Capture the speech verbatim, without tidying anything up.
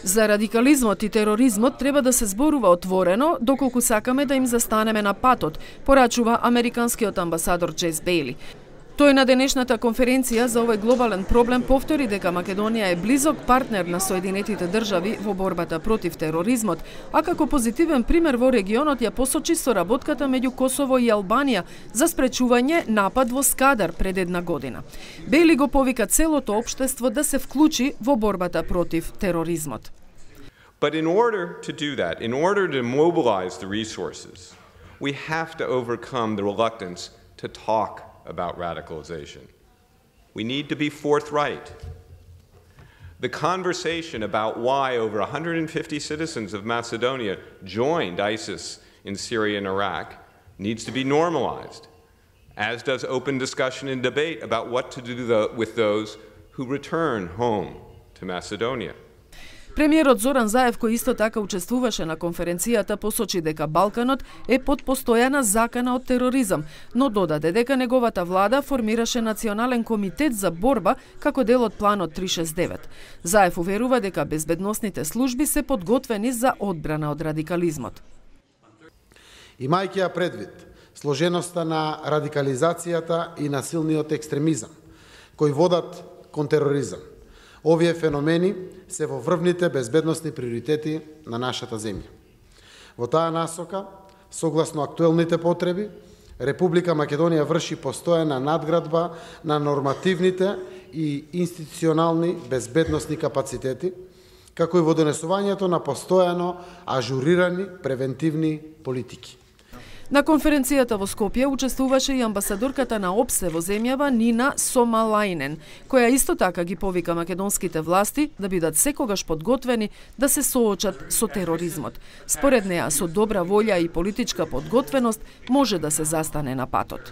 За радикализмот и тероризмот треба да се зборува отворено, доколку сакаме да им застанеме на патот, порачува американскиот амбасадор Джес Бејли. Тој на денешната конференција за овој глобален проблем повтори дека Македонија е близок партнер на Соединетите држави во борбата против тероризмот, а како позитивен пример во регионот ја посочи соработката меѓу Косово и Албанија за спречување напад во Скадар пред една година. Бејли го повика целото општество да се вклучи во борбата против тероризмот. But in order to do that, in order to mobilize the resources, we have to overcome the reluctance to talk about radicalization. We need to be forthright. The conversation about why over one hundred fifty citizens of Macedonia joined ISIS in Syria and Iraq needs to be normalized, as does open discussion and debate about what to do with those who return home to Macedonia. Премиерот Зоран Заев, кој исто така учествуваше на конференцијата, посочи дека Балканот е под постојана закана од тероризам, но додаде дека неговата влада формираше национален комитет за борба како дел од планот триста шесто и девет. Заев уверува дека безбедносните служби се подготвени за одбрана од радикализмот. Имајќи ја предвид сложеноста на радикализацијата и насилниот екстремизам, кои водат кон тероризам, овие феномени се во врвните безбедносни приоритети на нашата земја. Во таа насока, согласно актуелните потреби, Република Македонија врши постојана надградба на нормативните и институционални безбедносни капацитети, како и во донесувањето на постојано ажурирани превентивни политики. На конференцијата во Скопје учествуваше и амбасадорката на ОПСЕ во земјава Нина Сомалајнен, која исто така ги повика македонските власти да бидат секогаш подготвени да се соочат со тероризмот. Според неа, со добра волја и политичка подготвеност може да се застане на патот.